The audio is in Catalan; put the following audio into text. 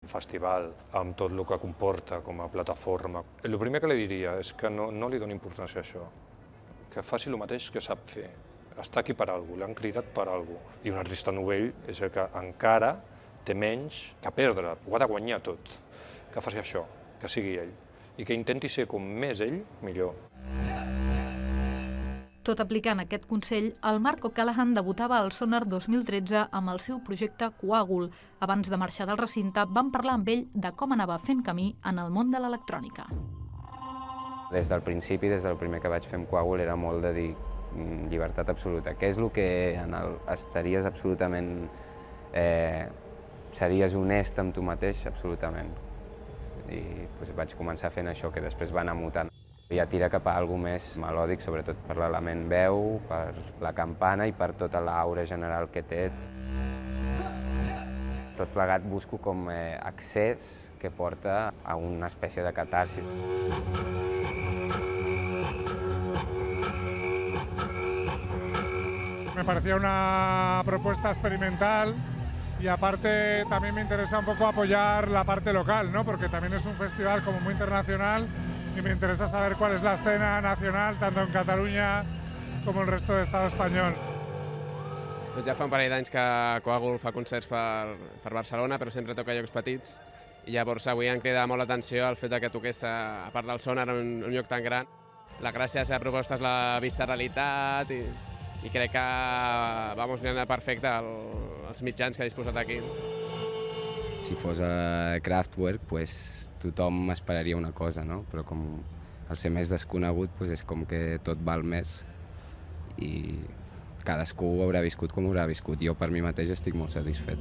festival, amb tot el que comporta com a plataforma. El primer que li diria és que no li doni importància a això, que faci el mateix que sap fer. Està aquí per alguna cosa, l'han cridat per alguna cosa. I un artista novell és el que encara té menys que perdre, ho ha de guanyar tot. Que faci això, que sigui ell, i que intenti ser com més ell, millor. Tot aplicant aquest consell, el Marc O'Callaghan debutava al Sonar 2013 amb el seu projecte Coàgul. Abans de marxar del recinte, vam parlar amb ell de com anava fent camí en el món de l'electrònica. Des del principi, des del primer que vaig fer amb Coàgul, era molt de dir llibertat absoluta. Què és el que estaries absolutament... series honest amb tu mateix, absolutament. I vaig començar fent això, que després va anar mutant. Ja tira cap a alguna més melòdic, sobretot per l'element veu, per la campana i per tota l'aura general que té. Tot plegat busco com accés que porta a una espècie de catarsi. Me parecía una propuesta experimental y aparte también me interesa un poco apoyar la parte local, ¿no? Porque también es un festival como muy internacional y me interesa saber cuál es la escena nacional, tanto en Cataluña como el resto de Estado espanyol. Ja fa un parell d'anys que Coàgul fa concerts per Barcelona, però sempre toca llocs petits. I llavors avui em crida molt l'atenció el fet que toqués, a part del Sonar, en un lloc tan gran. La gràcia de la proposta és la visceralitat i crec que vamos mirant perfecte els mitjans que ha disposat aquí. Si fos a Kraftwerk, tothom esperaria una cosa, no? Però com al ser més desconegut és com que tot val més i cadascú ho haurà viscut com ho haurà viscut. Jo per mi mateix estic molt satisfet.